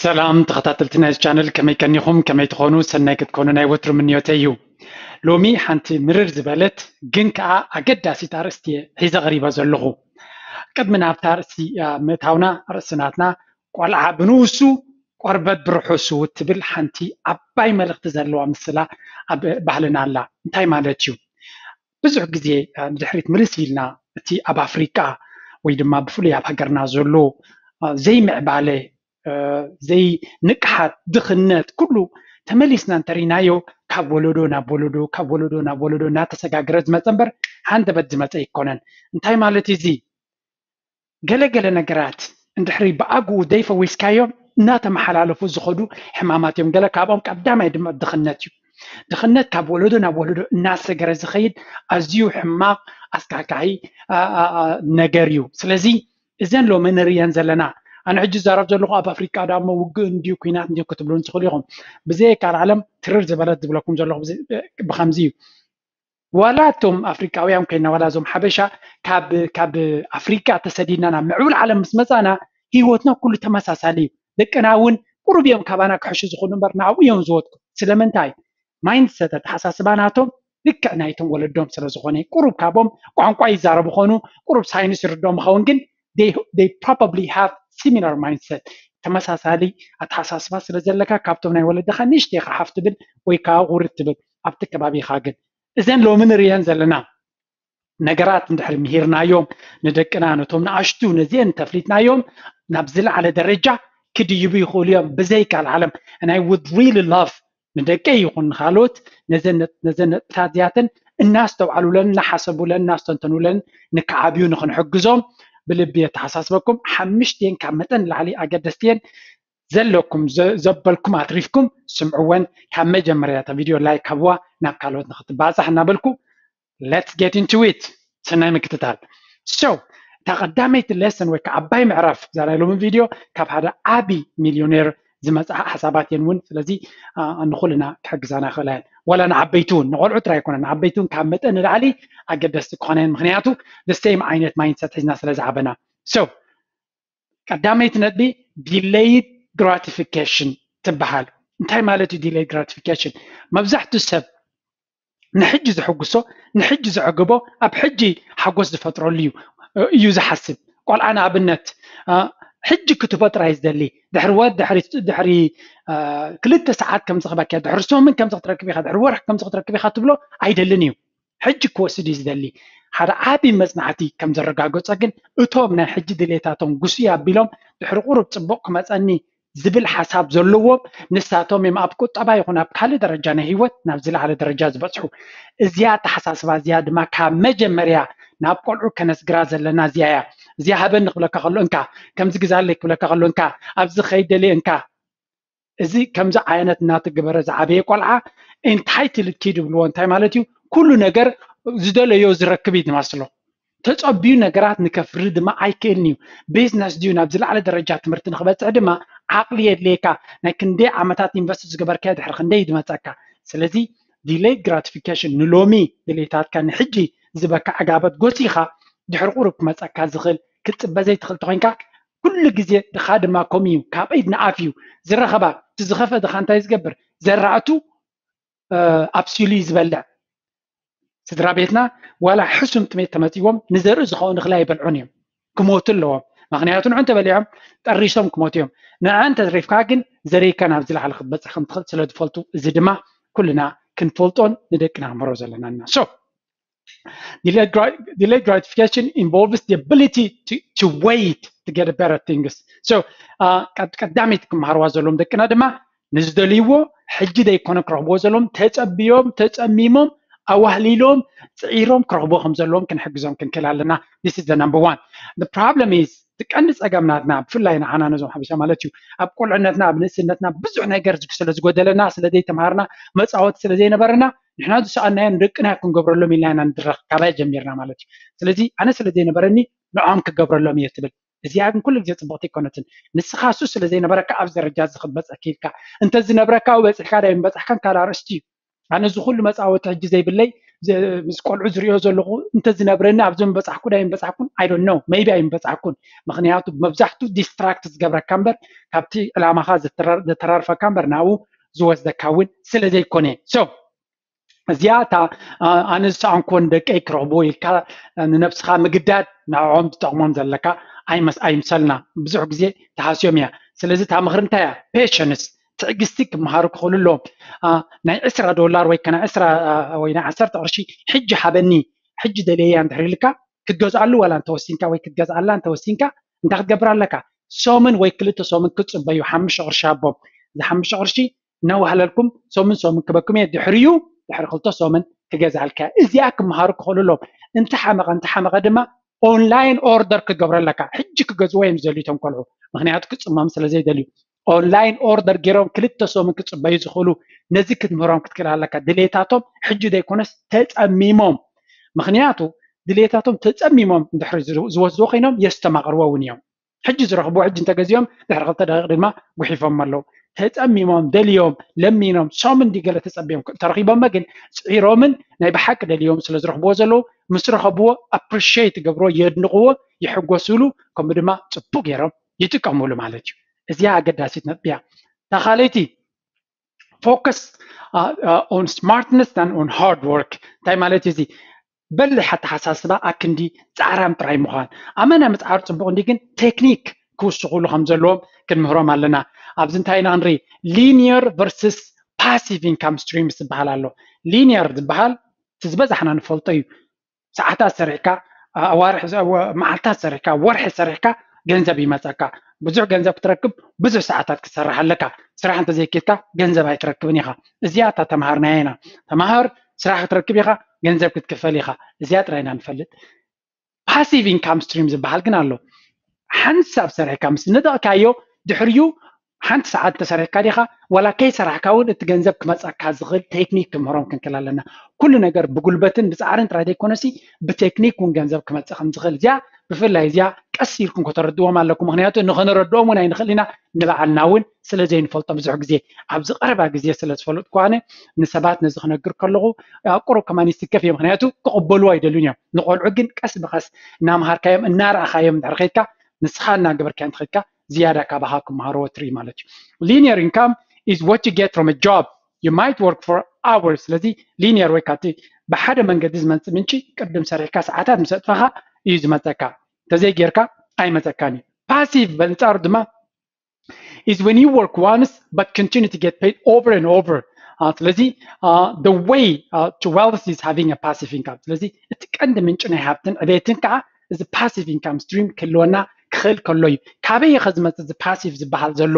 ሰላም ተኸታተልቲ ናይዚ ቻነል፣ ከመይ ቀኒኹም? ከመይ ትኾኑ? ሰናይ ክትኮኑ ናይ ወትሩ ምንዮተይ እዩ። ሎሚ ሓንቲ ምርር ዝበለት ግን ከኣ ኣገዳሲት ኣርእስቲ እየ ሒዘ ቀሪበ ዘለኹ። ቅድሚ ናብታ ኣርእስቲ ምእታውና፣ ኣርእስቲ ናትና ቆልዓ ብንኡሱ ቆርበት ብርሑሱ እትብል ሓንቲ ዓባይ መልእኽቲ ዘለዋ ምስላ ኣብ ባህልና ኣላ። እንታይ ማለት እዩ? ብዙሕ ግዜ ንድሕሪት ምልስ ኢልና፣ እቲ ኣብ ኣፍሪቃ ወይ ድማ ብፍሉይ ኣብ ሃገርና ዘሎ ዘይምዕባለ፣ ዘይንቅሓት፣ ድኽነት፣ ኩሉ ተመሊስና እንተሪናዮ፣ ካብ ወለዶ ናብ ወለዶ፣ ካብ ወለዶ ናብ ወለዶ እናተሰጋገረ ዝመፀ እምበር፣ ሃንደበት ዝመፀ ኣይኮነን። እንታይ ማለት እዚ? ገለገለ ነገራት እንድሕሪ ብኣግኡ ዘይፈዊስካዮም እናተመሓላለፉ ዝኸዱ ሕማማት እዮም። ገለ ካብኦም ቀዳማይ ድማ ድኽነት እዩ። ድኽነት ካብ ወለዶ ናብ ወለዶ እናሰገረ ዝኸይድ ኣዝዩ ሕማቕ ኣስካሕካሒ ነገር እዩ። ስለዚ እዘን ሎሚ ንርእየን ዘለና፣ ኣነ ሕጂ ዝዛረብ ዘለኹ ኣብ ኣፍሪቃ ዳሞ ውግእ እንድዩ ኲናት እንድዩ ክትብሉን ትኽእሉ ኢኹም። ብዘየካል ዓለም ትርር ዝበለት ዝብለኩም ዘለኹ ብኸምዚ እዩ። ዋላ እቶም ኣፍሪቃውያን ኮይና ዋላ እዞም ሓበሻ ካብ ካብ ኣፍሪቃ ተሰዲድና ናብ ምዕቡል ዓለም ምስ መጻና ህይወትና ኩሉ ተመሳሳሊ እዩ። ደቅና እውን ቁሩብ እዮም ካባና ክሕሹ ዝኾኑ እምበር ናብኡ እዮም ዝወድቁ። ስለምንታይ? ማይንድሰት፣ ኣተሓሳስባ ናቶም ልክዕ ናይቶም ወለዶም ስለ ዝኾነ፣ ቁሩብ ካብኦም ቋንቋ ይዛረቡ ኾኑ፣ ቁሩብ ሳይንስ ይርዶም ይኸውን፣ ግን they probably have similar mindset፣ ተመሳሳሊ ኣተሓሳስባ ስለ ዘለካ ካብቶም ናይ ወለድኻ ንእሽተይ ኢኻ ሓፍ ትብል ወይ ከዓ ውርድ ትብል ኣብቲ ከባቢኻ። ግን እዘን ሎሚ ንርእየን ዘለና ነገራት እንድሕሪ ምሂርናዮም ንደቅና፣ ነቶም ንኣሽቱ ነዚአን ተፍሊጥናዮም ናብ ዝለዓለ ደረጃ ክድይቡ ይኽእሉ እዮም ብዘይካል ዓለም። And I would really love ንደቀይ ይኹን ንኻልኦት ነዘን ነጥብታት እዚኣተን እናስተውዓሉለን እናሓሰቡለን እናስተንተኑለን ንክዓብዩ ንክንሕግዞም ብልቢ የተሓሳስበኩም። ሓምሽቲኤን ካብ መጠን ንላዕሊ ኣገደስቲኤን ዘለኩም ዘበልኩም ኣትሪፍኩም ስምዕወን። ካብ መጀመርያ እታ ቪድዮ ላይክ ሃብዋ ናብ ካልኦት ንክትባፃሕ እናበልኩ let's get into it። ሰናይ ምክትታል። So እታ ቀዳመይቲ ሌሰን ወይ ከዓ ዓባይ ምዕራፍ እዛ ናይ ሎሚ ቪድዮ ካብ ሓደ ዓቢ ሚልዮኔር ዝመፅኣ ሓሳባት እየን እውን። ስለዚ ንኩልና ክሕግዛና ይኽእላ እየን። ዋላ ንዓበይቲ እውን፣ ንቆልዑ ጥራይ ኣይኮነን፣ ንዓበይቲ እውን ካብ መጠን ንላዕሊ ኣገደስቲ ክኾና እየን። ምክንያቱ the same ዓይነት ማይንድሰት ሒዝና ስለ ዝዓበና። So ቀዳመይቲ ነጥቢ delayed gratification ትበሃል። እንታይ ማለት እዩ delayed gratification? መብዛሕትኡ ሰብ ንሕጂ ዝሕጉሶ፣ ንሕጂ ዘዕግቦ፣ ኣብ ሕጂ ሓጎስ ዝፈጥረሉ እዩ እዩ ዝሓስብ። ቆልዓ ንኣብነት ሕጂ ክትህቦ ጥራይ ዝደሊ፣ ድሕሪ ወር ድሕሪ ድሕሪ ክልተ ሰዓት ከምዚ ክበኪያ፣ ድሕሪ ሰሙን ከምዚ ክትረክብ ኢኻ፣ ድሕሪ ወርሒ ከምዚ ክትረክብ ኢኻ ትብሎ ኣይደልን እዩ። ሕጂ ክወስድ እዩ ዝደሊ። ሓደ ዓቢ መጽናዕቲ ከም ዘረጋገጾ ግን እቶም ናይ ሕጂ ድሌታቶም ጉስይ ኣቢሎም ድሕሪ ቁሩብ ጽቡቕ ክመጸኒ ዝብል ሓሳብ ዘለዎም ንሳቶም እዮም ኣብ ቁጠባ ይኹን ኣብ ካልእ ደረጃ ናይ ህይወት ናብ ዝለዓለ ደረጃ ዝበጽሑ። እዚኣ ኣተሓሳስባ እዚኣ ድማ ካብ መጀመርያ ናብ ቆልዑ ከነስግራ ዘለና እዚኣ እያ። እዚኣ ሃበኒ ክብለካ ከሎ እንካ፣ ከምዚ ግዛለይ ክብለካ ከሎ እንካ፣ ኣብዚ ኸይድ ደልየ እንካ። እዚ ከምዚ ዓይነት እናተገበረ ዝዓበየ ቆልዓ entitled kid ይብልዎ። እንታይ ማለት እዩ? ኩሉ ነገር ዝደለዮ ዝረክብ እዩ ዝመስሎ። ተጸቢዩ ነገራት ንከፍሪ ድማ ኣይክእልን እዩ። ቢዝነስ ድዩ ናብ ዝለዓለ ደረጃ ትምህርቲ ንክበጽሕ ድማ ዓቕሊ የድልየካ። ናይ ክንደይ ዓመታት ኢንቨስት ዝገበርካዮ ድሕሪ ክንደይ እዩ ዝመጸካ? ስለዚ delayed gratification ንሎሚ ድሌታትካ ንሕጂ ዝበካ ዕጋበት ጎሲኻ ድሕሪ ቁሩብ ክመጸካ ዝኽእል ክትጽበ ዘይትኽእል ተኾይንካ ኩሉ ግዜ ድኻ ድማ ከምኡ እዩ። ካብ ኢድ ንኣፍ እዩ ዝረኸባ። እቲ ዝኸፈ ድኻ እንታይ ዝገብር? ዘራእቱ ኣብሲሉ እዩ ዝበልዕ። ስድራ ቤትና ዋላ ሕሱም ጥሜት ተመጺዎም ንዘርኢ ዝኸውን እኽሊ ኣይበልዑን እዮም። ክሞቱ ኣለዎም። ምኽንያቱ ንዑ እንተበሊዖም ጠሪሶም ክሞቱ እዮም። ንዓ እንተትሪፍካ ግን ዘርእካ ናብ ዝለዓለ ክትበጽሕ ከም ትኽእል ስለ ዝፈልጡ፣ እዚ ድማ ኩልና ክንፈልጦን ንደቅና ክንምህሮ ዘለና ኢና። So delayed gratification involves the ability to, to wait to get better things. So ቀዳሚት ክመሃርዋ ዘለዎም ደቅና ድማ ንዝደልይዎ ሕጂ ዘይኮነ ክረኽብዎ ዘለዎም፣ ተጸብዮም ተጸሚሞም ኣዋህሊሎም ጽዒሮም ክረኽብዎ ከም ዘለዎም ክንሕግዞም ክንክእል ኣለና። This is the number one. The problem is፣ እቲ ቀንዲ ጸገም ናትና ብፍላይ ንዓና ነዞም ሓበሻ ማለት እዩ፣ ኣብ ቁልዕነትና ኣብ ንእስነትና ብዙሕ ነገር ስለ ዝጎደለና ስለ ዘይተምሃርና መጻወቲ ስለ ዘይነበረና ንሕና ዝሰኣናዮ ንደቅና ክንገብረሎም ኢልና ኢና ንድረኽ ካባይ ጀሚርና ማለት እዩ። ስለዚ ኣነ ስለ ዘይነበረኒ ንዖም ክገብረሎም እየ ትብል። እዚኣ ግን ኩሉ ግዜ ጽብቕቲ ኣይኮነትን። ንስኻ እሱ ስለ ዘይነበረካ ኣብዚ ደረጃ እዚ ክትበጽሕ ክኢልካ። እንተዝነብረካ ኣብኡ በጺሕካ ዳይ ምበጻሕካን ካልእ ኣርእስቲ እዩ። ኣነ እዚ ኩሉ መጻወቲ ሕጂ ዘይብለይ ምስ ቆልዑ ዝሪኦ ዘለኹ እንተዝነብረኒ ኣብዚ ምበፃሕኩ ዶ ኣይምበፃሕኩን? I don't know, maybe ኣይምበፃሕኩን። ምክንያቱ መብዛሕቱ distract ዝገብረካ እምበር ካብቲ ዕላማኻ ዘተራርፈካ እምበር ናብኡ ዝወስደካ እውን ስለ ዘይኮነ። So እዚኣ እታ ኣነ ዝሰኣንኮ ንደቀይ ክረኽብዎ ኢልካ ንነብስኻ ምግዳድ ንዕኦም ትጠቕሞም ዘለካ ኣይምሰልና። ብዙሕ ግዜ ተሃስዮም እያ። ስለዚ እታ ምኽሪ እንታይ እያ? Patience፣ ትዕግስቲ ክመሃሩ ክኽእሉ ኣለዎም። ናይ ዕስራ ዶላር ወይ ከና ዕስራ ወይ ናይ ዓሰርተ ቅርሺ ሕጂ ሃበኒ፣ ሕጂ ደልየያ እንድሕር ኢልካ ክትገዝኣሉ ዋላ እንተወሲንካ ወይ ክትገዝኣላ እንተወሲንካ እንታይ ክትገብር ኣለካ? ሰሙን ወይ ክልተ ሰሙን ክትፅበዩ፣ ሓሙሽተ ቅርሺ ሃቦም። እዚ ሓሙሽተ ቅርሺ እናዋህለልኩም ሰሙን ሰሙን ክበኩም እየ። ድሕሪኡ ድሕሪ ክልተ ሰሙን ክገዝኣልካ እያ። እዚኣ ክመሃሩ ክኽእሉ ኣለዎም። እንተሓመቐ እንተሓመቐ ድማ ኦንላይን ኦርደር ክገብረለካ። ሕጂ ክገዝዎ እዮም ዝደልዩ እቶም ቆልዑ፣ ምክንያቱ ክፅመም ስለ ዘይደልዩ። ኦንላይን ኦርደር ገይሮም ክልተ ሰሙን ክፅበዩ ዝኽእሉ፣ ነዚ ክትምህሮም ክትክእል ኣለካ። ድሌታቶም ሕጂ ዘይኮነስ ተፀሚሞም። ምክንያቱ ድሌታቶም ተፀሚሞም እንድሕሪ ዝወስድዎ ኮይኖም የስተማቕርዎ እውን እዮም። ሕጂ ዝረኽብዎ ሕጂ እንተገዚኦም ድሕሪ ክልተ ደቂቕ ድማ ጉሒፎም ኣለዉ። ተፀሚሞም ደልዮም ለሚኖም ሰሙን እንዲ ገለ ተፀቢዮም ተረኺቦመ ግን ፅዒሮምን ናይ ብሓቂ ደልዮም ስለ ዝረኽብዎ ዘለዉ ምስ ረኸብዎ appreciate ይገብርዎ፣ የድንቕዎ፣ ይሕጎስሉ፣ ከምኡ ድማ ፅቡቅ ገይሮም ይጥቀምሉ ማለት እዩ። እዚኣ ኣገዳሲት ነጥቢ እያ። እታ ካልኣይቲ focus on smartness and on hard work። እንታይ ማለት እዩ እዚ? በሊሕ ኣተሓሳስባ ኣክንዲ ፃዕራም ጥራይ ምዃን። ኣመና ምፅዓር ፅቡቅ እንዲ ግን ቴክኒክ ክውስኹሉ ከም ዘለዎም ክንምህሮም ኣለና። ኣብዚ እንታይ ኢና ክንርኢ? Linear versus passive income streams ዝበሃል ኣሎ። Linear ዝበሃል እቲ ዝበዛሕና ንፈልጦ እዩ። ሰዓታት ሰሪሕካ፣ ኣዋርሕ፣ መዓልታት ሰሪሕካ፣ ወርሒ ሰሪሕካ ገንዘብ ይመፀካ። ብዙሕ ገንዘብ ክትረክብ ብዙሕ ሰዓታት ክትሰርሕ ኣለካ። ስራሕ እንተዘይኪድካ ገንዘብ ኣይትረክብን ኢኻ። እዚኣ እታ ተምሃርናያ ኢና። ተምሃር፣ ስራሕ ክትረክብ ኢኻ፣ ገንዘብ ክትክፈል ኢኻ። እዚኣ ጥራይ ኢና ንፈልጥ። Passive income stream ዝበሃል ግን ኣሎ። ሓንሳብ ሰሪሕካ ምስ ንደቕካዮ ድሕሪኡ ሓንቲ ሰዓት እንተሰሪሕካ ዲኻ ዋላ ከይሰራሕካ እውን እቲ ገንዘብ ክመፀካ ዝኽእል ቴክኒክ ክምህሮም ክንክእል ኣለና። ኩሉ ነገር ብጉልበትን ብፃዕርን ጥራይ ዘይኮነሲ ብቴክኒክ እውን ገንዘብ ክመፅእ ከም ዝኽእል እዚኣ ብፍላይ እዚኣ ቀስ ኢልኩም ከተረድዎም ኣለኩም። ምክንያቱ ንኸነረድኦም እውን ኣይንኽእል ኢና፣ ንባዕልና እውን ስለ ዘይንፈልጦ ብዙሕ ግዜ ኣብዚ ቀረባ ግዜ ስለ ዝፈለጥኩ ኣነ ንሰባት ነዚ ክነግር ከለኹ ኣብ ቁሩብ ከማን ይስከፍ እዮም። ምክንያቱ ክቕበልዎ ኣይደልዩን እዮም። ንቆልዑ ግን ቀስ ብቐስ እናምሃርካዮም እናረኣኻዮም እንድሕር ከይድካ ንስኻ እናገበርካዮ እንተኸድካ ዝያዳ ካባኻ ክመሃርዎ ትርኢ ማለት እዩ። Linear income is what you get from a job. You might work for hours. ስለዚ ሊኒየር ወይ ካብቲ ብሓደ መንገዲ ዝመፅእ ምንጪ ቅድም ሰሪሕካ ሰዓታት ምስ ኣጥፋኻ እዩ ዝመፀካ። እንተዘይጌርካ ኣይመፀካን እዩ። Passive በንፃሩ ድማ is when you work once but continue to get paid over and over. ስለዚ the way to wealth is having a passive income. ስለዚ እቲ ቀንዲ ምንጪ ናይ ሃብትን ዕቤትን ከዓ እዚ passive income stream ክህልወና ክኽእል ከሎ እዩ። ካበይ ከ ዝመፅእ እዚ passive ዝበሃል ዘሎ?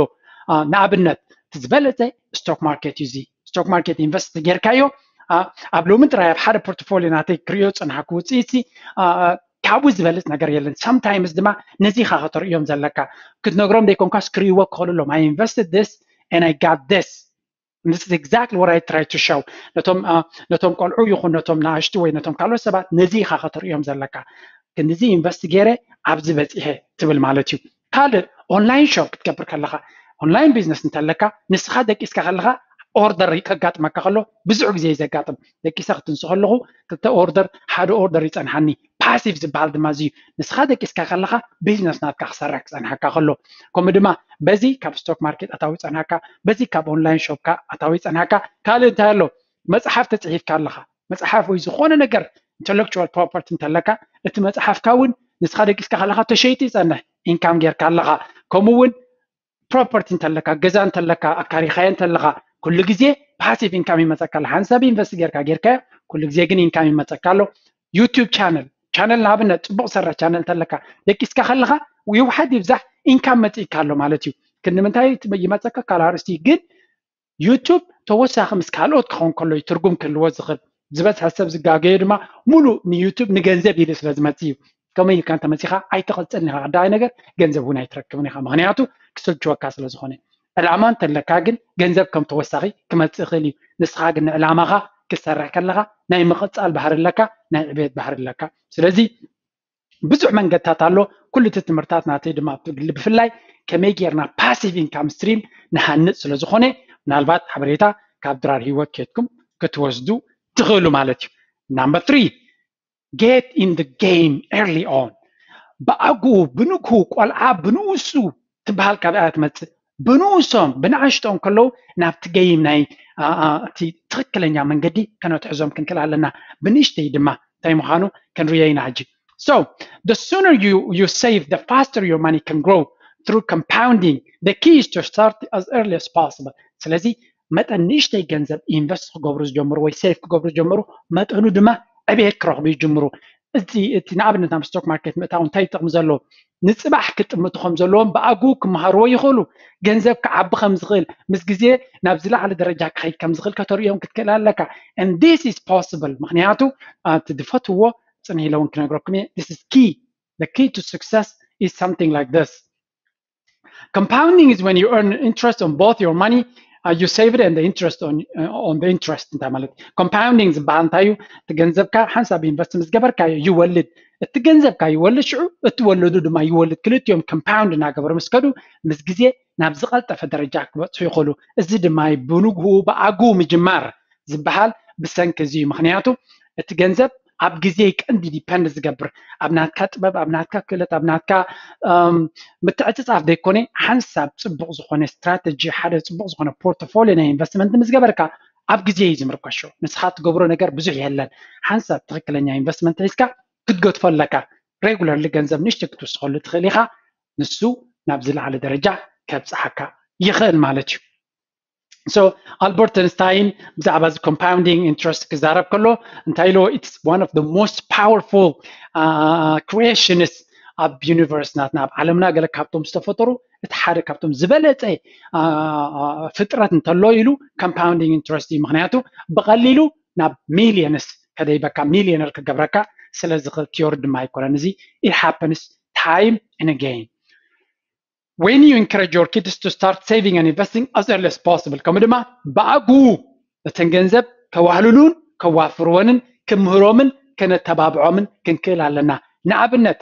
ንኣብነት እቲ ዝበለፀ stock market እዩ። እዚ stock market invest ጌርካዮ ኣብ ሎሚ ጥራይ ኣብ ሓደ portfolio ናተይ ክሪኦ ዝፀናሕኩ ውፅኢት ካብኡ ዝበልፅ ነገር የለን። Sometimes ድማ ነዚ ኢኻ ከተርእዮም ዘለካ። ክትነግሮም ዘይኮንካስ ክርእይዎ ክኽእሉ ኣለዎም። I invested this and I got this. This is exactly what I try to show ነቶም ነቶም ቆልዑ ይኹን ነቶም ንኣሽቱ ወይ ነቶም ካልኦት ሰባት ነዚ ኢኻ ከተርእዮም ዘለካ። ክንድዚ ኢንቨስት ገይረ ኣብዚ በፂሐ ትብል ማለት እዩ። ካልእ ኦንላይን ሾፕ ክትገብር ከለኻ ኦንላይን ቢዝነስ እንተለካ ንስኻ ደቂስካ ከለኻ ኦርደር ከጋጥመካ ከሎ ብዙሕ ግዜ እዩ ዘጋጥም። ደቂሰ ክትንሱ ከለኹ ክልተ ኦርደር ሓደ ኦርደር ይፀንሓኒ። ፓሲቭ ዝበሃል ድማ እዚ እዩ። ንስኻ ደቂስካ ከለኻ ቢዝነስ ናትካ ክሰርሕ ክፀንሓካ ከሎ ከምኡ ድማ በዚ ካብ ስቶክ ማርኬት ኣታዊ ይፀንሓካ፣ በዚ ካብ ኦንላይን ሾፕካ ኣታዊ ይፀንሓካ። ካልእ እንታይ ኣሎ? መፅሓፍ ተፅሒፍካ ኣለኻ። መፅሓፍ ወይ ዝኾነ ነገር ኢንተሌክቹዋል ፕሮፐርቲ እንተለካ እቲ መፅሓፍካ እውን ንስኻ ደቂስካ ከለኻ ተሸይጡ ይፀንሕ፣ ኢንካም ጌርካ ኣለኻ። ከምኡ እውን ፕሮፐርቲ እንተለካ፣ ገዛ እንተለካ፣ ኣካሪኻዮ እንተለኻ ኩሉ ግዜ ፓሲቭ ኢንካም ይመፀካ ኣሎ። ሓንሳብ ኢንቨስት ጌርካ ጌርካዮ ኩሉ ግዜ ግን ኢንካም ይመፀካ ኣሎ። ዩቱብ ቻነል ቻነል ንኣብነት ፅቡቕ ሰራሕ ቻነል እንተለካ ደቂስካ ከለኻ ይውሓድ ይብዛሕ ኢንካም መፂእካ ኣሎ ማለት እዩ። ክንዲ ምንታይ ይመፀካ ካልእ ኣርእስቲ ግን ዩቱብ ተወሳኺ ምስ ካልኦት ክኸውን ከሎ እዩ ትርጉም ክህልዎ ዝኽእል። ዝበዝሐ ሰብ ዝጋገዮ ድማ ሙሉእ ንዩቱብ ንገንዘብ ኢሉ ስለ ዝመፅእ እዩ። ከመይ ኢልካ እንተመፂኻ ኣይትቕፅልን ኢኻ። ቀዳማይ ነገር ገንዘብ እውን ኣይትረክብን ኢኻ፣ ምኽንያቱ ክስልችወካ ስለ ዝኾነ። ዕላማ እንተለካ ግን ገንዘብ ከም ተወሳኺ ክመፅእ ይኽእል እዩ። ንስኻ ግን ንዕላማኻ ክትሰርሕ ከለኻ ናይ ምቕፃል ባህሪ ኣለካ፣ ናይ ዕቤት ባህሪ ኣለካ። ስለዚ ብዙሕ መንገድታት ኣሎ። ኩሉ እቲ ትምህርታት ናተይ ድማ ብፍላይ ከመይ ጌርና ፓሲቭ ኢንካም ስትሪም ንሃንፅ ስለ ዝኾነ ምናልባት ሓበሬታ ካብ ድራር ህይወት ኬድኩም ክትወስዱ ትኽእሉ ማለት እዩ። Number three, get in the game early on. ብኣግኡ ብንግሁ ቆልዓ ብንኡሱ ትበሃል ካብ እያ ትመፅእ። ብንኡሶም ብንኣሽቶኦም ከለዉ ናብቲ game ናይ እቲ ትኽክለኛ መንገዲ ከነትሕዞም ክንክእል ኣለና። ብንእሽተይ ድማ እንታይ ምዃኑ ክንርዮ ኢና ሕጂ። So the sooner you you save, the faster your money can grow through compounding. The key is to start as early as possible. ስለዚ መጠን ንእሽተይ ገንዘብ invest ክገብሩ ዝጀምሩ ወይ save ክገብሩ ዝጀምሩ መጠኑ ድማ ዕብየት ክረኽቡ ይጅምሩ። እቲ እቲ ንኣብነት ናብ stock market ምእታው እንታይ ይጠቕም ዘሎ? ንፅባሕ ክጥምቱ ከም ዘለዎም ብኣግኡ ክመሃርዎ ይኽእሉ። ገንዘብ ክዓቢ ከም ዝኽእል ምስ ግዜ ናብ ዝለዓለ ደረጃ ክኸይድ ከም ዝኽእል ከተርእዮም ክትክእል ኣለካ። And this is possible ምክንያቱ እቲ ዝፈትዎ ፅንሕ ኢለ እውን ክነግረኩም እየ። This is key. The key to success is something like this. Compounding is when you earn interest on both your money uh, you save it and the interest on uh, on the interest እንታይ ማለት compounding ዝበሃል እንታይ እዩ? እቲ ገንዘብካ ሓንሳብ invest ምስ ገበርካዮ ይወልድ። እቲ ገንዘብካ ይወልድ፣ ሽዑ እቲ ወለዱ ድማ ይወልድ። ክልቲኦም compound እናገበሩ ምስ ከዱ ምስ ግዜ ናብ ዝቐልጠፈ ደረጃ ክበፅሑ ይኽእሉ። እዚ ድማ እዩ ብንግሁ ብኣግኡ ምጅማር ዝበሃል ብሰንኪ እዚ እዩ። ምክንያቱ እቲ ገንዘብ ኣብ ግዜ ቀንዲ depend ዝገብር ኣብ ናትካ ጥበብ፣ ኣብ ናትካ ክእለት፣ ኣብ ናትካ ምትዕፅፃፍ ዘይኮነ ሓንሳብ ፅቡቕ ዝኾነ strategy፣ ሓደ ፅቡቕ ዝኾነ portfolio ናይ investment ምስ ገበርካ ኣብ ግዜ እዩ ዝምርኮሾ። ንስኻ ትገብሮ ነገር ብዙሕ የለን። ሓንሳብ ትኽክለኛ investment ሒዝካ ክትገድፎ ኣለካ። Regularly ገንዘብ ንእሽተይ ክትውስኸሉ ትኽእል ኢኻ። ንሱ ናብ ዝለዓለ ደረጃ ከብፅሓካ ይኽእል ማለት እዩ። So Albert Einstein ብዛዕባ እዚ compounding interest ክዛረብ ከሎ እንታይ ኢልዎ? It's one of the most powerful uh, creations ኣብ universe ናትና ኣብ ዓለምና ገለ ካብቶም ዝተፈጠሩ እቲ ሓደ ካብቶም ዝበለፀ ፍጥረት እንተሎ ኢሉ compounding interest እዩ። ምክንያቱ ብቐሊሉ ናብ millions ከደይበካ፣ ሚሊዮነር ክገብረካ ስለ ዝኽእል theory ድማ ኣይኮነን። እዚ it happens time and again. When you encourage your kids to start saving and investing as early as possible ከምኡ ድማ ብኣግኡ እተን ገንዘብ ከዋህልሉን ከዋፍርወንን ክምህሮምን ከነተባብዖምን ክንክእል ኣለና። ንኣብነት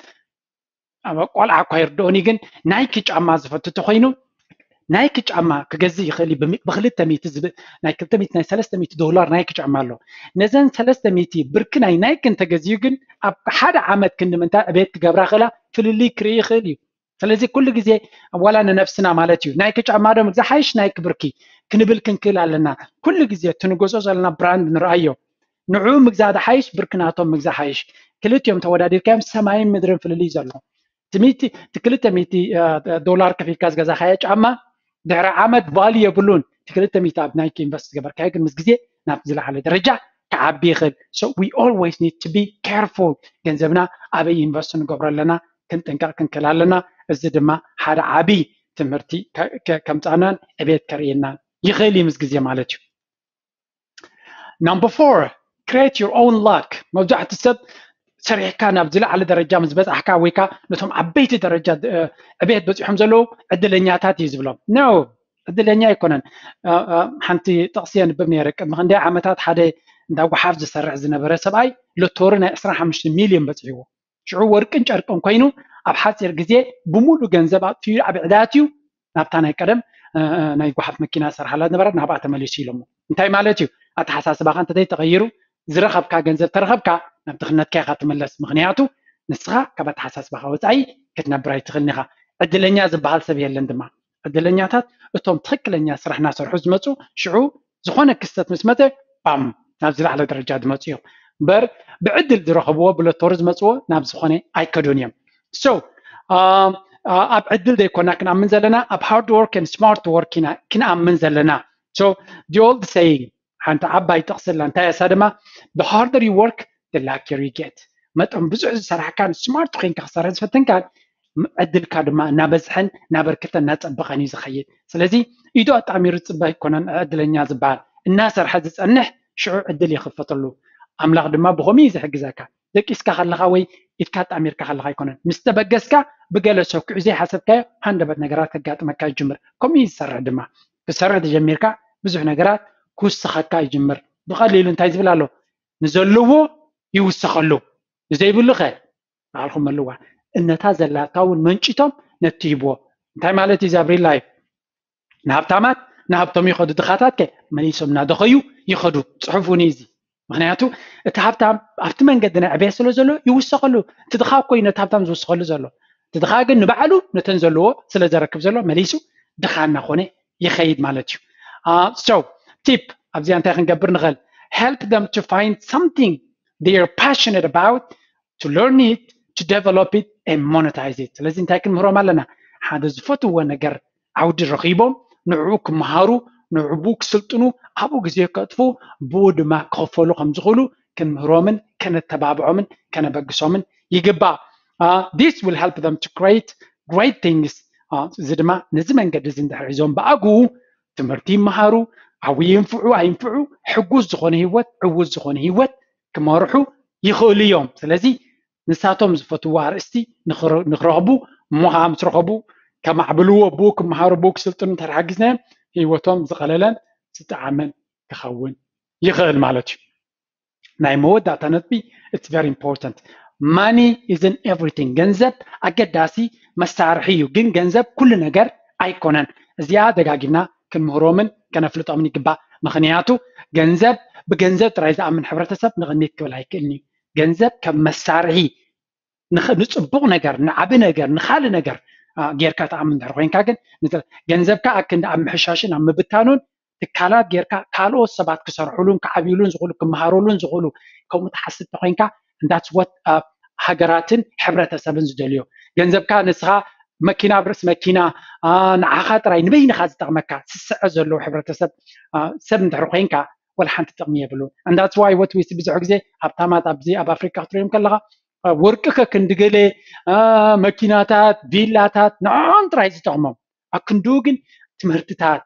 ቆልዓ እኳ ይርድኦኒ ግን ናይኪ ጫማ ዝፈቱ ተኮይኑ ናይኪ ጫማ ክገዝእ ይኽእል እዩ። ብክልተ ሚእቲ ናይ ክልተ ሚእቲ ናይ ሰለስተ ሚእቲ ዶላር ናይኪ ጫማ ኣሎ። ነዘን ሰለስተ ሚእቲ ብርኪ ናይ ናይኪ እንተገዝዩ ግን ኣብ ሓደ ዓመት ክንዲ ምንታይ ዕቤት ክገብራ ክእላ ፍልልይ ክርኢ ይኽእል እዩ። ስለዚ ኩሉ ግዜ ዋላ ንነብስና ማለት እዩ ናይኪ ጫማ ዶ ምግዛእ ሓይሽ ናይኪ ብርኪ ክንብል ክንክእል ኣለና። ኩሉ ግዜ እቲ ንገዝኦ ዘለና ብራንድ ንርኣዮ። ንዕኡ ምግዛእ ዶ ሓይሽ ብርኪ ናቶም ምግዛእ ሓይሽ? ክልቲኦም ተወዳዲርካዮም ሰማይን ምድርን ፍልልይ ዘሎ። እቲ ክልተ ሚእቲ ዶላር ከፊልካ ዝገዛኻዮ ጫማ ድሕሪ ዓመት ቫልዩ የብሉን። እቲ ክልተ ሚእቲ ኣብ ናይኪ ኢንቨስት ዝገበርካዮ ግን ምስ ግዜ ናብ ዝለዓለ ደረጃ ክዓቢ ይኽእል። So we always need to be careful። ገንዘብና ኣበይ ኢንቨስት ንገብሮ ኣለና ክንጥንቀቕ ክንክእል ኣለና። እዚ ድማ ሓደ ዓብዪ ትምህርቲ ከምፃናን ዕቤት ከርእየናን ይኽእል እዩ ምስ ግዜ ማለት እዩ። Number four, create your own luck. መብዛሕትኡ ሰብ ሰሪሕካ ናብ ዝለዓለ ደረጃ ምስ በፃሕካ ወይ ከዓ ነቶም ዓበይቲ ደረጃ ዕቤት በፂሖም ዘለዉ ዕድለኛታት እዩ ዝብሎም። No፣ ዕድለኛ ኣይኮነን። ሓንቲ ጥቕሲ የንብብ ነይረ። ቅድሚ ክንደይ ዓመታት ሓደ እንዳ ጓሓፍ ዝሰርሕ ዝነበረ ሰብኣይ ሎቶሪ ናይ ዕስራን ሓሙሽተን ሚልዮን በፂሕዎ። ሽዑ ወርቅን ጨርቅን ኮይኑ ኣብ ሓፂር ግዜ ብምሉእ ገንዘብ ኣጥፊኡ ኣብ ዕዳት እዩ ናብታ ናይ ቀደም ናይ ጓሓፍ መኪና ዝሰርሓላ ዝነበረት ናብኣ ተመሊሱ ኢሎሞ። እንታይ ማለት እዩ? ኣተሓሳስባኻ እንተዘይተቐይሩ ዝረኸብካ ገንዘብ ተረኸብካ ናብ ድኽነትካ ኢኻ ትምለስ። ምኽንያቱ ንስኻ ካብ ኣተሓሳስባኻ ወፃኢ ክትነብር ኣይትኽእልን ኢኻ። ዕድለኛ ዝበሃል ሰብ የለን ድማ። ዕድለኛታት እቶም ትኽክለኛ ስራሕ እናሰርሑ ዝመፁ ሽዑ ዝኾነ ክስተት ምስ መፀ ባም ናብ ዝለዓለ ደረጃ ዝመፁ እዮም። እምበር ብዕድል ዝረኸብዎ ብሎቶሪ ዝመፅዎ ናብ ዝኾነ ኣይከዱን እዮም። So ኣብ ዕድል ዘይኮና ክንኣምን ዘለና ኣብ hard work and smart work ኢና ክንኣምን ዘለና። So the old saying ሓንቲ ዓባይ ጥቕሲ ኣላ እንታይ እያ እሳ ድማ the harder you work the luckier you get። መጠን ብዙሕ ዝሰራሕካን ስማርት ኮይንካ ክሰርሕ ዝፈተንካን ዕድልካ ድማ እናበዝሐን እናበርከተ እናፀበቐን እዩ ዝኸይድ። ስለዚ ኢዱ ኣጣሚሩ ዝፅበ ኣይኮነን ዕድለኛ ዝበሃል። እናሰርሐ ዝፀንሕ ሽዑ ዕድል ይኽፈተሉ። ኣምላኽ ድማ ብኸምኡ እዩ ዝሕግዘካ። ደቂስካ ከለኻ ወይ ኢድካ ኣጣሚርካ ከለኻ ኣይኮነን። ምስ ተበገስካ ብገለ ሰኩዕ ዘይሓሰብካዮ ሃንደበት ነገራት ከጋጥመካ ይጅምር። ከምኡ እዩ ዝሰርሕ ድማ። ክሰርሕ ተጀሚርካ ብዙሕ ነገራት ክውስኸካ ይጅምር። ብቐሊሉ እንታይ ዝብል ኣሎ? ንዘለዎ ይውሰኸሉ፣ ንዘይብሉ ኸ ባዕልኹም መልዋ። እነታ ዘላታ እውን መንጭቶም ነቲ ሂብዎ። እንታይ ማለት እዩ? እዚ ኣብ ሪል ላይፍ ንሃብታማት ንሃብቶም ይኸዱ፣ ድኻታት ከ መሊሶም እናደኸዩ ይኸዱ። ፅሑፍ እውን እዩ እዚ። ምክንያቱ እቲ ሃብታም ኣብቲ መንገዲ ናይ ዕቤት ስለ ዘሎ ይውሰኸሉ። እቲ ድኻ እኮ እዩ ነቲ ሃብታም ዝውስኸሉ ዘሎ። እቲ ድኻ ግን ንባዕሉ ነተን ዘለዎ ስለ ዘረክብ ዘሎ መሊሱ ድኻ እናኾነ ይኸይድ ማለት እዩ። So tip ኣብዚኣ እንታይ ክንገብር ንኽእል? Help them to find something they are passionate about, to learn it, to develop it and monetize it. ስለዚ እንታይ ክንምህሮም ኣለና? ሓደ ዝፈትዎ ነገር ዓውዲ ረኺቦም ንዕኡ ክመሃሩ፣ ንዕኡ ክስልጥኑ፣ ኣብኡ ግዜ ከጥፉ፣ ብኡ ድማ ክኸፈሉ ከም ዝኽእሉ ክንምህሮምን ከነተባብዖምን ከነበግሶምን ይግባእ። This will help them to create great things. እዚ ድማ ነዚ መንገዲ እዚ እንድሕር ሒዞም ብኣግኡ ትምህርቲ ይመሃሩ፣ ዓብዪ ይንፍዑ ኣይንፍዑ፣ ሕጉስ ዝኾነ ህይወት፣ ዕዉት ዝኾነ ህይወት ክመርሑ ይኽእሉ እዮም። ስለዚ ንሳቶም ዝፈትዎ ኣርእስቲ ንኽረኽቡ እሞ ከዓ ምስ ረኸቡ ከማዕብልዎ፣ ብኡ ክመሃሩ፣ ብኡ ክስልጥኑ እንተሓጊዝናዮም ህይወቶም ዝቐለለን ዝጠዓመን ክኸውን ይኽእል ማለት እዩ። ናይ መወዳእታ ነጥቢ፣ it's very important. Money isn't everything. ገንዘብ ኣገዳሲ መሳርሒ እዩ፣ ግን ገንዘብ ኩሉ ነገር ኣይኮነን። እዚኣ ደጋጊምና ክንምህሮምን ከነፍልጦምን ይግባእ። ምክንያቱ ገንዘብ ብገንዘብ ጥራይ ዝኣምን ሕብረተሰብ ንቕኒት ክብል ኣይክእልን እዩ። ገንዘብ ከም መሳርሒ ንፅቡቕ ነገር፣ ንዓቢ ነገር፣ ንካልእ ነገር ጌርካ ትኣምን ድሕር ኮይንካ ግን ገንዘብካ ኣክንዲ ኣብ ምሕሻሽን ኣብ ምብታኑን ትካላት ጌርካ ካልኦት ሰባት ክሰርሕሉን ክዓብይሉን ዝኽእሉ ክመሃረሉን ዝኽእሉ ከምኡ ትሓስብ ተኮይንካ that's what ሃገራትን ሕብረተሰብን ዝደልዮ። ገንዘብካ ንስኻ መኪና ኣብ ርእሲ መኪና ንዓኻ ጥራይ ንበይንኻ ዝጠቕመካ ስስዐ ዘለዎ ሕብረተሰብ ሰብ እንድሕር ኮይንካ ወላ ሓንቲ ጥቕሚ የብሉን። And that's why what we see ብዙሕ ግዜ ሃብታማት ኣብዚ ኣብ ኣፍሪካ ክትሪኦም ከለኻ ወርቂ ከክንዲ ገለ መኪናታት ቪላታት ንዕኦም ጥራይ ዝጠቕሞም ኣክንድኡ ግን ትምህርትታት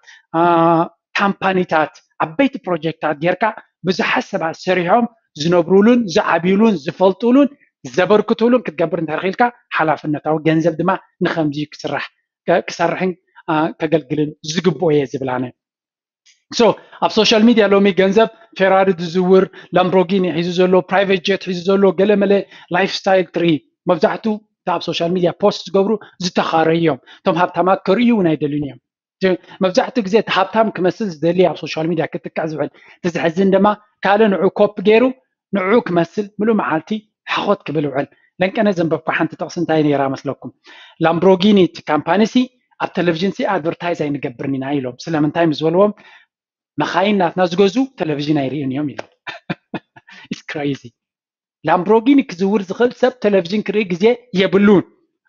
ካምፓኒታት ዓበይቲ ፕሮጀክታት ጌርካ ብዙሓት ሰባት ሰሪሖም ዝነብሩሉን ዝዓብዩሉን ዝፈልጡሉን ዘበርክቱሉን ክትገብር እንተኽኢልካ ሓላፍነታዊ ገንዘብ ድማ ንከምዚ ክስራሕ ክሰርሕን ከገልግልን ዝግብኦ እየ ዝብላነ። So ኣብ ሶሻል ሚድያ ሎሚ ገንዘብ ፌራሪ ዝዝውር ላምቦርጊኒ ሒዙ ዘሎ ፕራይቬት ጀት ሒዙ ዘሎ ገለመለ ላይፍ ስታይል ትርኢ። መብዛሕቱ እታ ኣብ ሶሻል ሚድያ ፖስት ዝገብሩ ዝተኻረዩ እዮም። እቶም ሃብታማት ከርእዩ እውን ኣይደልዩን እዮም። መብዛሕትኡ ግዜ እቲ ሃብታም ክመስል ዝደሊ ኣብ ሶሻል ሚድያ ክጥቅዕ ዝውዕል እቲ ዝሕዝን ድማ ካልእ ንዑ ኮፕ ገይሩ ንዑ ክመስል ምሉእ መዓልቲ ሓኾት ክብል ውዕል። ለንቀነ ዘንበብኳ ሓንቲ ጥቕሲ እንታይ ነይራ መስለኩም? ላምብሮጊኒ እቲ ካምፓኒ ሲ ኣብ ቴሌቪዥን ሲ ኣድቨርታይዝ ኣይንገብርን ኢና ኢሎም። ስለምንታይ ምስ በልዎም መኻይን ናትና ዝገዙ ቴሌቪዥን ኣይርእዩን እዮም ኢሎም። It's crazy. ላምብሮጊኒ ክዝውር ዝኽእል ሰብ ቴሌቪዥን ክርኢ ግዜ የብሉን።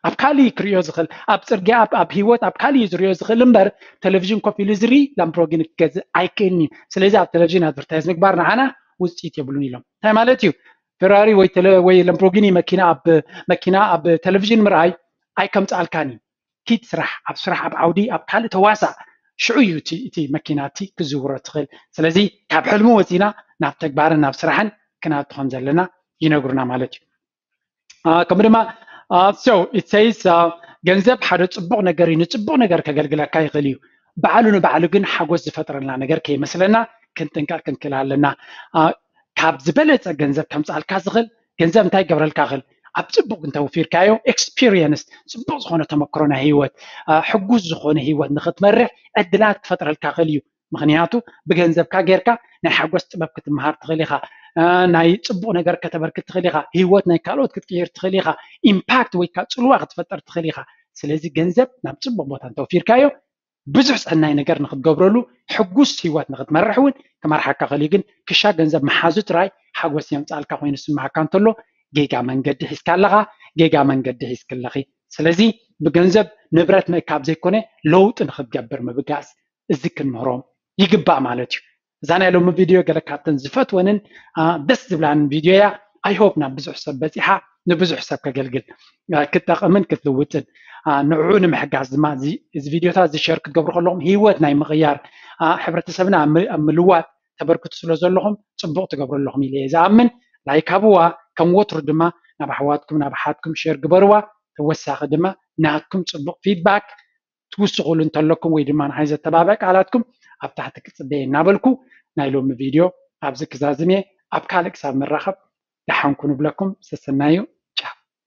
ኣብ ካልእ ክርእዮ ዝኽእል ኣብ ፅርግያ ኣብ ህይወት ኣብ ካልእ እዩ ዝርእዮ ዝኽእል እምበር ቴሌቪዥን ኮፍ ኢሉ ዝርኢ ላምብሮጊኒ ክገዝእ ኣይክእልን እዩ። ስለዚ ኣብ ቴሌቪዥን ኣድቨርታይዝ ምግባር ንዓና ውፅኢት የብሉን ኢሎም። እንታይ ማለት እዩ? ፌራሪ ወይ ላምብሮጊኒ መኪና ኣብ መኪና ኣብ ቴሌቪዥን ምርኣይ ኣይከምፅኣልካን እዩ። ኪድ ስራሕ ኣብ ስራሕ ኣብ ዓውዲ ኣብ ካልእ ተዋሳእ ሽዑ እዩ እቲ መኪና እቲ ክዝውሮ ትኽእል። ስለዚ ካብ ሕልሚ ወፂና ናብ ተግባርን ናብ ስራሕን ክናቱ ከም ዘለና ይነግሩና ማለት እዩ። ከምኡ ድማ so it says ገንዘብ ሓደ ፅቡቕ ነገር እዩ። ንፅቡቕ ነገር ከገልግለካ ይኽእል እዩ። ባዕሉ ንባዕሉ ግን ሓጎስ ዝፈጥረልና ነገር ከይመስለና ክንጥንቀቕ ክንክእል ኣለና። ካብ ዝበለፀ ገንዘብ ከምፅኣልካ ዝኽእል ገንዘብ እንታይ ይገብረልካ ይኽእል? ኣብ ፅቡቕ እንተውፊርካዮ ኤክስፒሪየንስ ፅቡቕ ዝኾነ ተመክሮ ናይ ህይወት ሕጉስ ዝኾነ ህይወት ንክትመርሕ ዕድላት ክፈጥረልካ ይኽእል እዩ። ምክንያቱ ብገንዘብካ ጌርካ ናይ ሓጎስ ጥበብ ክትመሃር ትኽእል ኢኻ። ናይ ፅቡቕ ነገር ከተበርክት ትኽእል ኢኻ። ህይወት ናይ ካልኦት ክትቅይር ትኽእል ኢኻ። ኢምፓክት ወይ ከዓ ፅልዋ ክትፈጥር ትኽእል ኢኻ። ስለዚ ገንዘብ ናብ ፅቡቕ ቦታ እንተውፊርካዮ ብዙሕ ሰናይ ነገር ንክትገብረሉ ሕጉስ ህይወት ንክትመርሕ እውን ክመርሓካ ክእል እዩ። ግን ክሻ ገንዘብ መሓዙ ጥራይ ሓጎስ የምፃልካ ኮይኑ ዝስምዓካ እንተሎ ጌጋ መንገዲ ሒዝካ ኣለኻ፣ ጌጋ መንገዲ ሒዝክለኺ። ስለዚ ብገንዘብ ንብረት ምእካብ ዘይኮነ ለውጢ ንክትገብር ምብጋስ እዚ ክንምህሮም ይግባእ ማለት እዩ። እዛ ናይ ሎሚ ቪድዮ ገለ ካብተን ዝፈትወንን ደስ ዝብላንን ቪድዮ እያ። I hope ናብ ብዙሕ ሰብ በፂሓ ንብዙሕ ሰብ ከገልግል ክትጠቕምን ክትልውጥን ንዕኡ ንምሕጋዝ ድማ እዚ ቪድዮታት እዚ ሸር ክትገብሩ ከለኹም ህይወት ናይ ምቕያር ሕብረተሰብና ኣብ ምልዋጥ ተበርክቱ ስለ ዘለኹም ፅቡቕ ትገብሩ ኣለኹም ኢለ እየ ዝኣምን። ላይክ ሃብዋ፣ ከም ወትሩ ድማ ናብ ኣሕዋትኩም ናብ ኣሓትኩም ሸር ግበርዋ። ተወሳኺ ድማ ናትኩም ፅቡቕ ፊድባክ ትውስኹሉ እንተለኩም ወይ ድማ ንዓይ ዘተባብዕ ቃላትኩም ኣብ ታሕቲ ክፅበየ እናበልኩ ናይ ሎሚ ቪድዮ ኣብዚ ክዛዝም እየ። ኣብ ካልእ ክሳብ ንራኸብ ደሓንኩ ንብለኩም። ሰሰናዩ።